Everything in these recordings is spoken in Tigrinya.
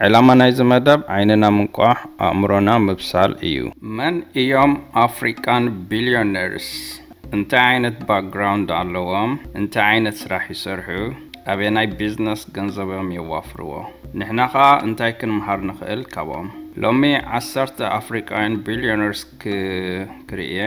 ዕላማ ናይዚ መደብ ዓይንና ምንቋሕ፣ ኣእምሮና ምብሳል እዩ። መን እዮም ኣፍሪቃን ቢልዮነርስ? እንታይ ዓይነት ባክግራውንድ ኣለዎም? እንታይ ዓይነት ስራሕ ይሰርሑ? ኣበየናይ ቢዝነስ ገንዘቦም የዋፍርዎ? ንሕና ኸኣ እንታይ ክንምሃር ንኽእል ካብኦም? ሎሚ ዓሰርተ ኣፍሪቃውያን ቢልዮነርስ ክ-፣ ክርኢ እየ።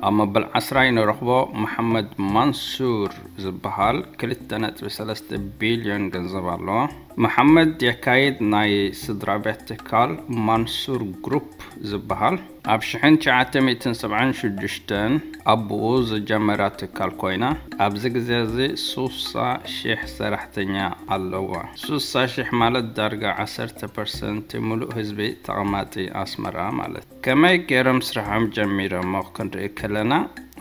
ኣብ መበል ዓስራይ ንረኽቦ መሓመድ ማንሱር ዝበሃል ክልተ ነጥቢ ሰለስተ ቢልዮን ገንዘብ ኣለዎ። መሓመድ የካይድ ናይ ስድራ ቤት ትካል ማንሱር ግሩፕ ዝበሃል ኣብ ሽሕን ትሽዓተ ሚእትን ሰብዓን ሽዱሽተን ኣቦኡ ዝጀመራ ትካል ኮይና፣ ኣብዚ ግዜ እዚ ሱሳ ሺሕ ሰራሕተኛ ኣለዋ። ሱሳ ሺሕ ማለት ዳርጋ ዓሰርተ ፐርሰንት ምሉእ ህዝቢ ተቐማጢ ኣስመራ ማለት። ከመይ ገይሮም ስራሖም ጀሚሮሞ ክንርኢ ከለና፣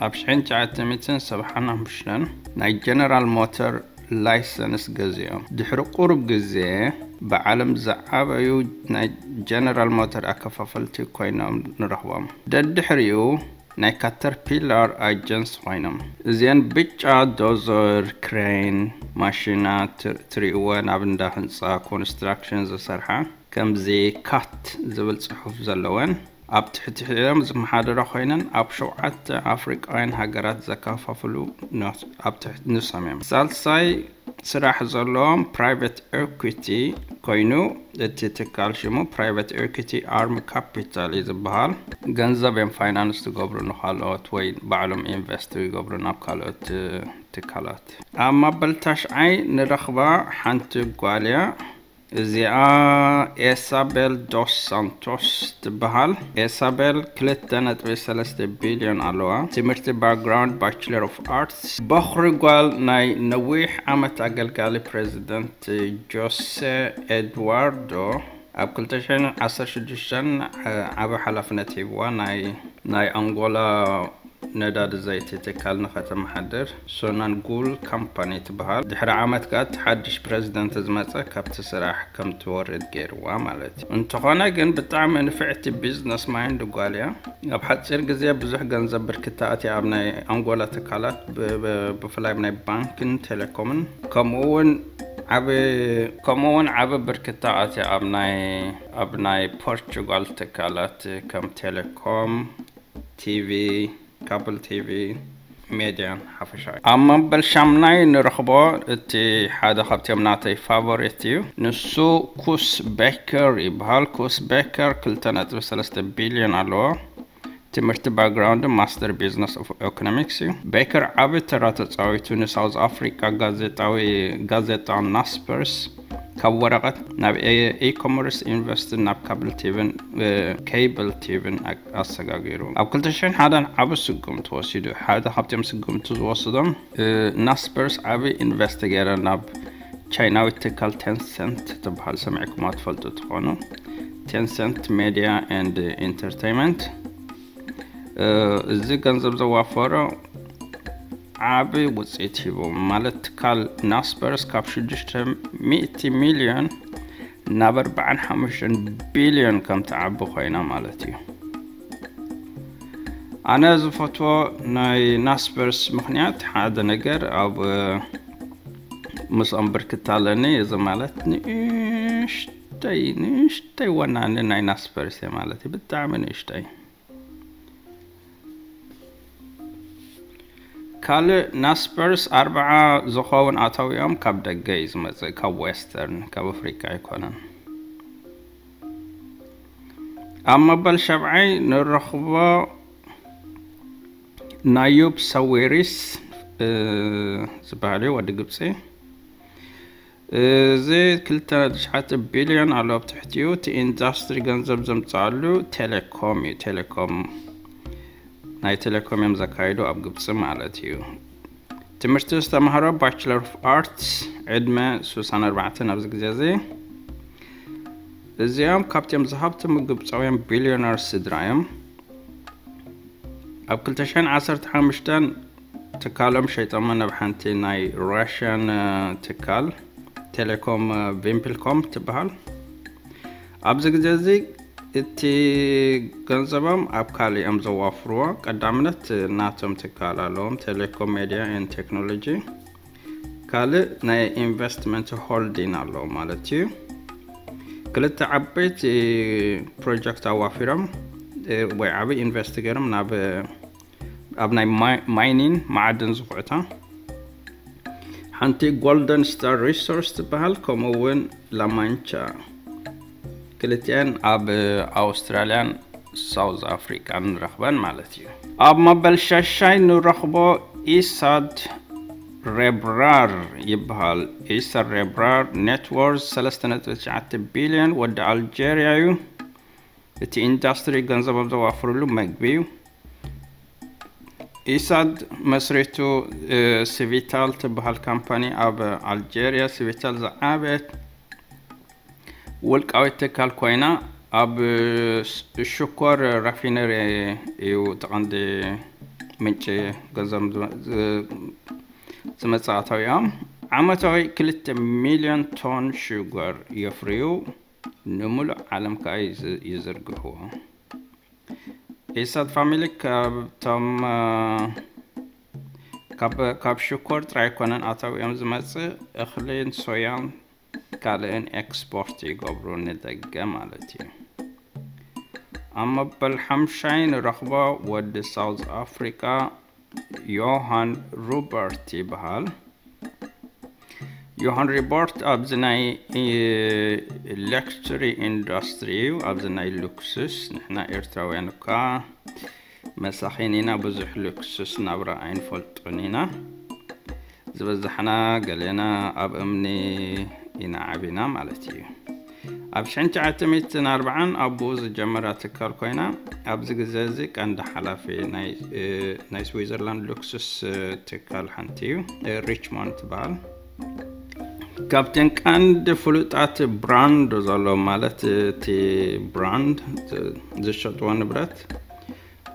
ኣብ ሽሕን ትሽዓተ ሚእትን ሰብዓን ሓሙሽተን ናይ ጀነራል ሞተር ላይሰንስ ገዚኦም። ድሕሪ ቁሩብ ግዜ ብዓለም ዝዓበዩ ናይ ጀነራል ሞተር ኣከፋፈልቲ ኮይኖም ንረኽቦም። ደድሕሪኡ ናይ ካተርፒላር ኣጀንስ ኮይኖም። እዚአን ብጫ ዶዘር፣ ክሬን፣ ማሽና ት-፣ ትሪእወን ኣብ እንዳ ህንፃ ኮንስትራክሽን ዝሰርሓ፣ ከምዚ ካት ዝብል ፅሑፍ ዘለወን፣ ኣብ ትሕቲኦም ዝመሓደራ ኮይነን ኣብ ሸውዓተ ኣፍሪቃውያን ሃገራት ዘከፋፍሉ ኖ-፣ ኣብ ትሕቲ ንሶም እዮም። ሳልሳይ ስራሕ ዘለዎም ፕራይቬት ኤኩቲ ኮይኑ፣ እቲ ትካል ሽሙ ፕራይቬት ኤኩቲ ኣርም ካፒታል እዩ ዝበሃል። ገንዘብ እዮም ፋይናንስ ዝገብሩ ንኻልኦት ወይ ባዕሎም ኢንቨስት ይገብሩ ናብ ካልኦት ትካላት። ኣብ መበል ታሽዓይ ንረኽባ ሓንቲ ጓል እያ። እዚኣ ኤሳቤል ዶስ ሳንቶስ ትበሃል። ኤሳቤል ክልተ ነጥቢ ሰለስተ ቢልዮን ኣለዋ። ትምህርቲ ባክግራውንድ ባችለር ኦፍ ኣርትስ። በኹሪ ጓል ናይ ነዊሕ ዓመት ኣገልጋሊ ፕሬዚደንት ጆሴ ኤድዋርዶ ኣብ ክልተ ሽሕን ዓሰርተ ሽዱሽተን ዓቢ ሓላፍነት ሂብዋ ናይ፣ ናይ ኣንጎላ ነዳዲ ዘይቲ ትካል ንኸተመሓድር። ሶናንጉል ካምፓኒ ትበሃል። ድሕሪ ዓመት ከኣ እቲ ሓድሽ ፕሬዚደንት ዝመጸ ካብቲ ስራሕ ከም ትወርድ ገይርዋ ማለት እዩ። እንተኾነ ግን ብጣዕሚ ንፍዕቲ ቢዝነስ ማይንድ ጓል እያ። ኣብ ሓጺር ግዜ ብዙሕ ገንዘብ ብርክታ ኣትያ ኣብ ናይ ኣንጎላ ትካላት ብ-፣ ብ-፣ ብፍላይ ኣብ ናይ ባንክን ቴሌኮምን ከምኡ እውን ዓቢ፣ ከምኡ እውን ዓቢ ብርክታ ኣትያ ኣብ ናይ፣ ኣብ ናይ ፖርቹጋል ትካላት ከም ቴሌኮም፣ ቲቪ፣ ካብል ቲቪ፣ ሜድያን ሓፈሻዊ። ኣብ መበል ሻምናይ ንረኽቦ እቲ ሓደ ካብቲኦም ናተይ ፋቮሪት እዩ። ንሱ ኩስ ቤከር ይበሃል። ኩስ ቤከር ክልተ ነጥቢ ሰለስተ ቢልዮን ኣለዎ። ትምህርቲ ባክግራውንድ ማስተር ቢዝነስ ኦፍ ኢኮኖሚክስ እዩ። ቤከር ዓቢ ተራ ተጻዊቱ ንሳውዝ ኣፍሪቃ ጋዜጣዊ፣ ጋዜጣ ናስፐርስ ካብ ወረቐት ናብ ኤ-፣ ኢኮመርስ ኢንቨስት ናብ ካብል ቲቪን፣ እ፣ ኬብል ቲቪን ኣ-፣ ኣሰጋጊሩ። ኣብ ክልተ ሽሕን ሓደን ዓቢ ስጉምቲ ወሲዱ። ሓደ ካብቶም ስጉምቲ ዝወሰዶም፣ እ፣ ናስፐርስ ዓቢ ኢንቨስት ገይረ ናብ ቻይናዊት ትካል ቴንሰንት ትበሃል ሰሚዕኩማ ትፈልጡ ትኾኑ። ቴንሰንት ሜድያ ኤንድ ኢንተርቴይንመንት። እ፣ እዚ ገንዘብ ዘዋፈሮ ዓቢ ውጽኢት ሂቡ። ማለት ትካል ናስፐርስ ካብ ሽዱሽተ ሚእቲ ሚልዮን ናብ ኣርባዓን ሓሙሽተን ቢልዮን ከም ትዓቢ ኮይና ማለት እዩ። ኣነ ዝፈትዎ ናይ ናስፐርስ ምኽንያት ሓደ ነገር ኣብ፣ እ፣ ምስኦም ብርክት ኣለኒ። እዚ ማለት ንእሽተይ፣ ንእሽተይ ወናኒ ናይ ናስፐርስ እየ ማለት እዩ። ብጣዕሚ ንእሽተይ። ካልእ ናስፐርስ ኣርብዓ ዝኸውን ኣታዊኦም ካብ ደገ እዩ ዝመጽእ፣ ካብ ዌስተርን፣ ካብ ኣፍሪቃ ኣይኮነን። ኣብ መበል ሸብዓይ ንረኽቦ ናዩብ ሰዊሪስ፣ እ፣ ዝበሃል እዩ፣ ወዲ ግብጺ። እዚ ክልተ ነጥቢ ትሽዓተ ቢልዮን ኣሎ ኣብ ትሕቲኡ። እቲ ኢንዳስትሪ ገንዘብ ዘምጽኣሉ ቴሌኮም እዩ። ቴሌኮም፣ ናይ ቴሌኮም እዮም ዘካይዱ ኣብ ግብጺ ማለት እዩ። ትምህርቲ ዝተማህሮ ባችለር ኦፍ ኣርትስ፣ ዕድመ ሱሳን ኣርባዕተን ኣብዚ ግዜ እዚ። እዚኦም ካብቶም ዝሃብተሙ ግብጻውያን ቢልዮነር ስድራ እዮም። ኣብ ክልተ ሽሕን ዓሰርተ ሓሙሽተን ትካሎም ሸይጦሞ ናብ ሓንቲ ናይ ራሽያን፣ እ፣ ትካል ቴሌኮም፣ እ፣ ቪምፕልኮም ትበሃል። ኣብዚ ግዜ እዚ እቲ ገንዘቦም ኣብ ካልእ እዮም ዘዋፍርዎ። ቀዳምነት ናቶም ትካል ኣለዎም፣ ቴሌኮም ሜድያ ኤንድ ቴክኖሎጂ። ካልእ ናይ ኢንቨስትመንት ሆልዲን ኣለዎም ማለት እዩ። ክልተ ዓበይቲ ፕሮጀክት ኣዋፊሮም ወይ ዓበይ ኢንቨስት ገይሮም ናብ ኣብ ናይ ማይኒን መዓድን ዝኹዕታ። ሓንቲ ጎልደን ስታር ሪሶርስ ትበሃል፣ ከምኡ እውን ላማንቻ፣ ክልቲአን ኣብ ኣውስትራልያን ሳውዝ ኣፍሪቃን ንረኽበን ማለት እዩ። ኣብ መበል ሻሻይ ንረኽቦ ኢሳድ ሬብራር ይበሃል። ኢሳድ ሬብራር ኔትወርዝ ሰለስተ ነጥቢ ትሽዓተ ቢልዮን ወዲ ኣልጀርያ እዩ። እቲ ኢንዳስትሪ ገንዘቦም ዘዋፍርሉ መግቢ እዩ። ኢሳድ መስሪቱ ሲቪታል ትበሃል ካምፓኒ ኣብ ኣልጀርያ። ሲቪታል ዝዓበየት ውልቃዊት ትካል ኮይና ኣብ ሽኮር ራፊነሪ እዩ እቲ ቀንዲ ምንጪ ገንዘብ ዝመፅእ ኣታዊኦም። ዓመታዊ ክልተ ሚልዮን ቶን ሽጎር የፍርዩ፣ ንሙሉእ ዓለም ከዓ ይዝርግሕዎ። ኢሳት ፋሚሊ ካብቶም ካብ ሽኮር ጥራይ ኮነን ኣታዊኦም ዝመፅእ እኽልን ሶያን ካልእን ኤክስፖርት ይገብሩ ንደገ ማለት እዩ። ኣብ መበል ሓምሻይ ንረኽቦ ወዲ ሳውዝ ኣፍሪቃ ዮሃን ሩበርት ይበሃል። ዮሃን ሪቦርት ኣብዚ ናይ ሌክትሪ ኢንዱስትሪ እዩ። ኣብዚ ናይ ሉክስስ ንሕና ኤርትራውያን እኳ መሳኺን ኢና፣ ብዙሕ ሉክስስ ናብራ ኣይንፈልጦን ኢና። ዝበዛሕና ገሌና ኣብ እምኒ ኢና ዓቢና ማለት እዩ። ኣብ ሽሕን ትሽዓተ ሚእትን ኣርባዓን ኣቦኡ ዝጀመራ ትካል ኮይና ኣብዚ ግዜ እዚ ቀንዲ ሓላፊ ናይ ስዊዘርላንድ ሉክስስ ትካል ሓንቲ እዩ። ሪችሞንድ ትበሃል። ካብተን ቀንዲ ፍሉጣት ብራንድ ዘሎ ማለት እቲ ብራንድ ዝሸጥዎ ንብረት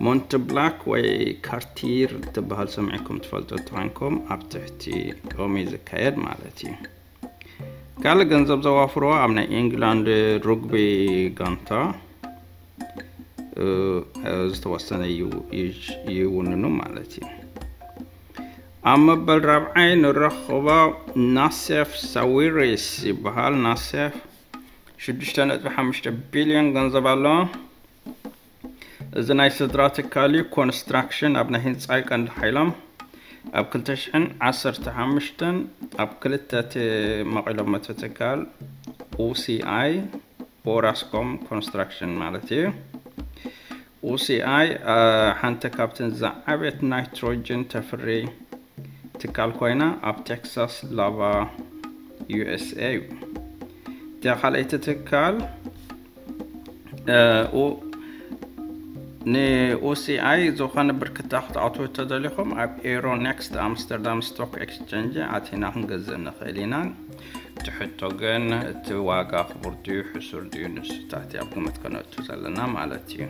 ሞንት ብላክ ወይ ካርቲር ትበሃል ሰሚዕኩም ትፈልጡ ተኮንኩም ኣብ ትሕቲ ኦም እዩ ዝካየድ ማለት እዩ። ካልእ ገንዘብ ዘዋፍርዎ ኣብ ናይ ኢንግላንድ ሩግቢ ጋንታ ዝተወሰነ ይውንኑ ማለት እዩ። ኣብ መበል ራብዓይ ንረኽቦ ናሴፍ ሳዊሪስ ይበሃል። ናሴፍ ሽዱሽተ ነጥቢ ሓሙሽተ ቢልዮን ገንዘብ ኣለዎ። እዚ ናይ ስድራ ትካል እዩ። ኮንስትራክሽን ኣብ ናይ ህንፃ ቀንዲ ሓይሎም ኣብ ክልተ ሽሕን ዓሰርተ ሓሙሽተን ኣብ ክልተ መቒሎም መተ ትካል ኡሲኣይ ኦራስኮም ኮንስትራክሽን ማለት እዩ። ኡሲኣይ ሓንቲ ካብተን ዝዓበየት ናይትሮጅን ተፍሪ ትካል ኮይና ኣብ ቴክሳስ ላቫ ዩኤስኤ እዩ። እቲያ ካልኣይቲ ትካል ንኡሲኣይ ዝኾነ ብርክታ ክትኣትዉ ተደሊኹም ኣብ ኤሮ ኔክስት ኣምስተርዳም ስቶክ ኤክስቸንጅ ኣቲና ክንገዝእ ንኽእል ኢና። እቲ ሕቶ ግን እቲ ዋጋ ክቡር ድዩ ሕሱር ድዩ ንሱታት ኣብ ግምት ከነእቱ ዘለና ማለት እዩ።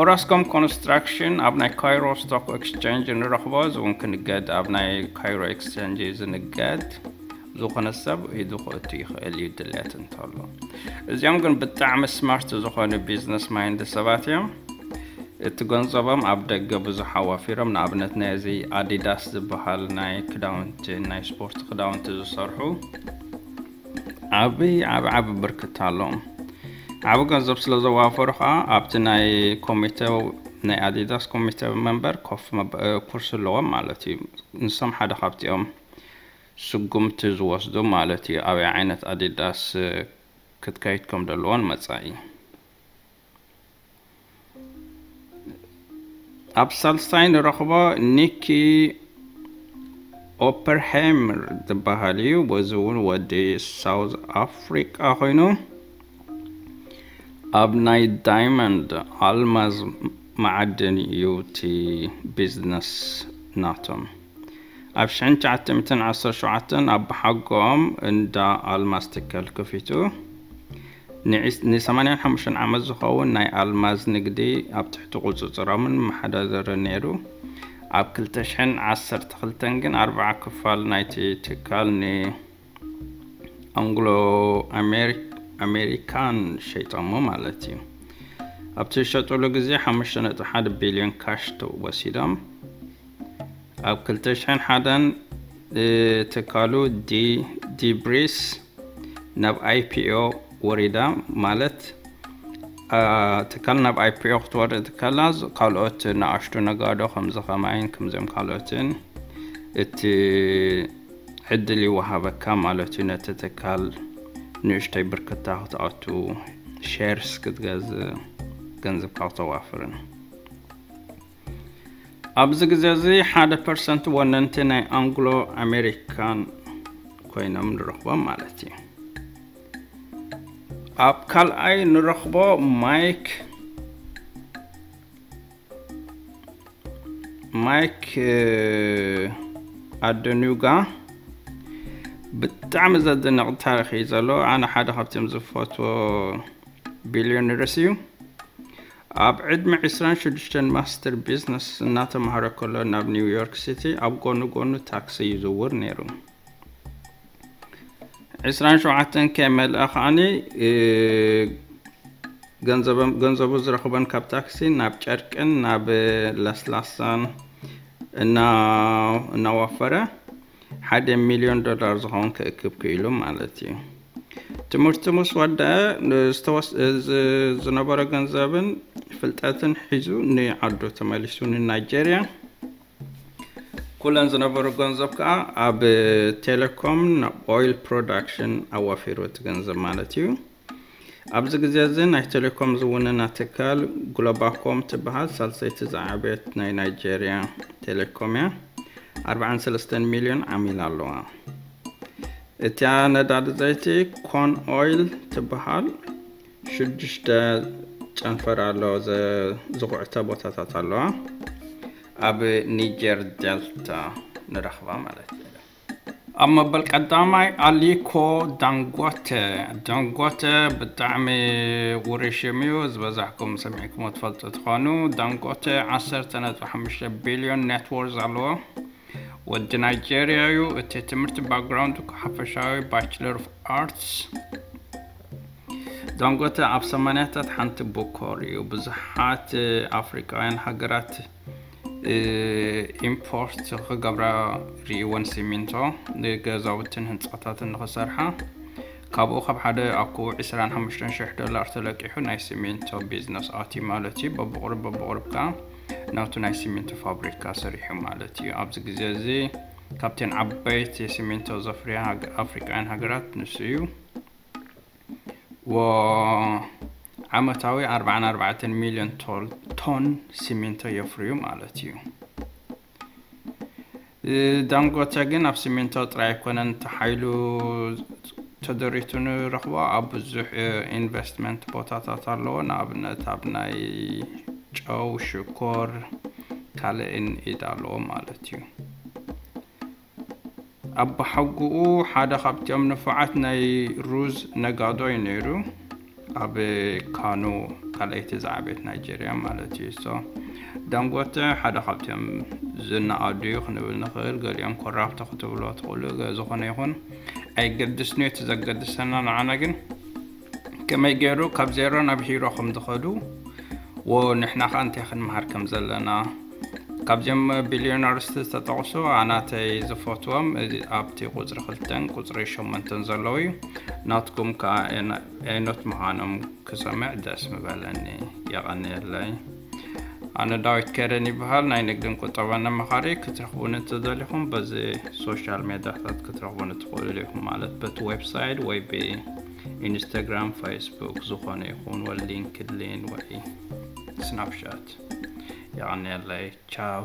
ኦራስኮም ኮንስትራክሽን ኣብ ናይ ካይሮ ስቶክ ኤክስቸንጅ ንረኽቦ፣ እዚ እውን ክንገድ ኣብ ናይ ካይሮ ኤክስቸንጅ እዩ ዝንገድ። ዝኾነ ሰብ ኢዱ ክእቱ ይኽእል እዩ ድልየት እንተሎ። እዚኦም ግን ብጣዕሚ ስማርት ዝኾኑ ቢዝነስ ማይንድ ሰባት እዮም። እቲ ገንዘቦም ኣብ ደገ ብዙሕ ኣዋፊሮም፣ ንኣብነት ናይ እዚ ኣዲዳስ ዝበሃል ናይ ክዳውንቲ ናይ ስፖርት ክዳውንቲ ዝሰርሑ ዓብይ ዓብ ዓብ ብርክት ኣለዎም። ዓብ ገንዘብ ስለ ዘዋፈሩ ከዓ ኣብቲ ናይ ኮሚቴ ናይ ኣዲዳስ ኮሚቴ መንበር ኮፍ ኩርሲ ኣለዎም ማለት እዩ። ንሶም ሓደ ካብቲኦም ስጉምቲ ዝወስዱ ማለት እዩ። ኣበይ ዓይነት ኣዲዳስ ክትከይድ ከም ዘለዎን መጻኢ ኣብ ሳልሳይ ንረኽቦ ኒኪ ኦፐርሃይመር ዝበሃል እዩ። በዚ እውን ወዲ ሳውዝ ኣፍሪቃ ኮይኑ ኣብ ናይ ዳይመንድ ኣልማዝ መዓድን እዩ እቲ ቢዝነስ ናቶም። ኣብ ሽሕን ትሽዓተ ሚእትን ዓሰርተ ሸውዓተን ኣብ ብሓጎኦም እንዳ ኣልማዝ ትካል ከፊቱ። ንሰማንያን ሓሙሽተን ዓመት ዝኸውን ናይ ኣልማዝ ንግዲ ኣብ ትሕቲ ቁፅፅሮምን መሓዳደርን ነይሩ። ኣብ ክልተ ሽሕን ዓሰርተ ክልተን ግን ኣርብዓ ክፋል ናይቲ ትካል ንኣንግሎ ኣሜሪካን ሸይጦሞ ማለት እዩ። ኣብቲ ዝሸጥሉ ግዜ ሓሙሽተ ነጥቢ ሓደ ቢልዮን ካሽ ወሲዶም። ኣብ ክልተ ሽሕን ሓደን ትካሉ ዲብሪስ ናብ IPO ወሪዳ ማለት ትካል ናብ IPO ክትወርድ ከላ ካልኦት ንኣሽቱ ነጋዶ ከምዚ ከማይን ከምዚኦም ካልኦትን እቲ ዕድል ይወሃበካ ማለት እዩ። ነቲ ትካል ንእሽተይ ብርክታ ክትኣቱ shares ክትገዝእ ገንዘብካ ክተዋፍርን ኣብዚ ግዜ እዚ ሓደ ፐርሰንት ወነንቲ ናይ ኣንግሎ ኣሜሪካን ኮይኖም ንረኽቦም ማለት እዩ። ኣብ ካልኣይ ንረኽቦ ማይክ ማይክ ኣደኑጋ ብጣዕሚ ዘደንቕ ታሪክ እዩ ዘሎ። ኣነ ሓደ ካብቶም ዝፈትዎ ቢልዮነርስ እዩ። ኣብ ዕድመ ዕስራን ሽዱሽተን ማስተር ቢዝነስ እናተማሃረ ከሎ ናብ ኒውዮርክ ሲቲ ኣብ ጎኑ ጎኑ ታክሲ ይዝውር ነይሩ። ዕስራን ሸውዓተን ከይመልኣ ከዓኒ ገንዘቡ ዝረኽበን ካብ ታክሲ ናብ ጨርቅን ናብ ለስላሳን እናዋፈረ ሓደ ሚልዮን ዶላር ዝኸውን ክእክብ ክኢሉ ማለት እዩ። ትምህርቱ ምስ ወደአ ዝነበረ ገንዘብን ፍልጠትን ሒዙ ንዓዱ ተመሊሱ ንናይጀርያ። ኩለን ዝነበሩ ገንዘብ ከዓ ኣብ ቴሌኮም ናብ ኦይል ፕሮዳክሽን ኣዋፊሩ እቲ ገንዘብ ማለት እዩ። ኣብዚ ግዜ እዚ ናይ ቴሌኮም ዝውንና ትካል ግሎባኮም ትበሃል ሳልሰይቲ ዝዓበየት ናይ ናይጄርያ ቴሌኮም እያ። ኣርባዓን ሰለስተን ሚልዮን ዓሚል ኣለዋ። እቲያ ነዳዲ ዘይቲ ኮን ኦይል ትበሃል ሽዱሽተ ጨንፈር ኣለዎ ዝኹዕተ ቦታታት ኣለዋ። ኣብ ኒጀር ዴልታ ንረኽባ ማለት እዩ። ኣብ መበል ቀዳማይ ኣሊኮ ዳንጎተ። ዳንጎተ ብጣዕሚ ውሩይ ሽም እዩ። ዝበዛሕኩም ሰሚዕኩሞ ትፈልጡ ትኾኑ። ዳንጎተ ዓሰርተ ነጥቢ ሓሙሽተ ቢልዮን ኔትወርዝ ኣለዎ። ወዲ ናይጄርያ እዩ። እቲ ትምህርቲ ባክግራውንድ ሓፈሻዊ ባችለር ኦፍ ኣርትስ። ዳንጎተ ኣብ ሰማንያታት ሓንቲ ቦኮር እዩ። ብዙሓት ኣፍሪቃውያን ሃገራት ኢምፖርት ክገብራ ርእይወን ሲሚንቶ ንገዛውትን ህንፃታትን ንክሰርሓ። ካብኡ ካብ ሓደ ኣኩቡ ዕስራን ሓሙሽተን ሽሕ ዶላር ተለቂሑ ናይ ሲሚንቶ ቢዝነስ ኣትዩ ማለት እዩ። በብቑሩብ በብቑሩብ ከዓ ናቱ ናይ ሲሚንቶ ፋብሪካ ሰሪሑ ማለት እዩ። ኣብዚ ግዜ እዚ ካብተን ዓበይቲ ሲሚንቶ ዘፍርያ ኣፍሪቃውያን ሃገራት ንሱ እዩ። ዓመታዊ ኣርባዓን ኣርባዕተን ሚልዮን ቶን ሲሚንቶ የፍርዩ ማለት እዩ። ዳንጎተ ግን ኣብ ሲሚንቶ ጥራይ ኣይኮነን ተሓይሉ ተደሪቱ ንረኽቦ። ኣብ ብዙሕ ኢንቨስትመንት ቦታታት ኣለዎ። ንኣብነት ኣብ ናይ ጨው፣ ሽኮር፣ ካልእን ኢድ ኣለዎ ማለት እዩ። ኣባሓጉኡ ሓደ ካብቲኦም ንፉዓት ናይ ሩዝ ነጋዶ እዩ ነይሩ። ኣብ ካኑ ካልኣይቲ ዝዓበየት ናይጀርያ ማለት እዩ። ሶ ዳንጎተ ሓደ ካብቲኦም ዝነኣዱ እዩ ክንብል ንኽእል። ገሊኦም ኮራፕት ክትብሎ ትኽእሉ። ዝኾነ ይኹን ኣይገድስን እዩ። እቲ ዘገድሰና ንዓና ግን ከመይ ገይሩ ካብ ዜሮ ናብ ሂሮ ከም ዝኸዱ፣ ወ ንሕና ኸኣ እንታይ ክንመሃር ከም ዘለና ካብዚኦም ቢልዮነርስ ዝተጠቕሱ ኣናተይ ዝፈትዎም ኣብቲ ቁፅሪ ክልተን ቁፅሪ ሸሞንተን ዘለዉ እዩ። ናትኩም ከዓ ኤኖት ምዃኖም ክሰምዕ ደስ ምበለኒ። የቐንየለይ። ኣነ ዳዊት ከረን ይበሃል። ናይ ንግድን ቁጠባን ኣማኻሪ። ክትረኽቡኒ እንተደሊኹም በዚ ሶሻል ሜዳታት ክትረኽቡኒ ትኽእሉ ኢኹም፣ ማለት በቲ ዌብሳይት ወይ ብኢንስታግራም፣ ፌስቡክ ዝኾነ ይኹን ወይ ሊንክድኢን ወይ ስናፕሻት። የቐንየለይ። ቻው።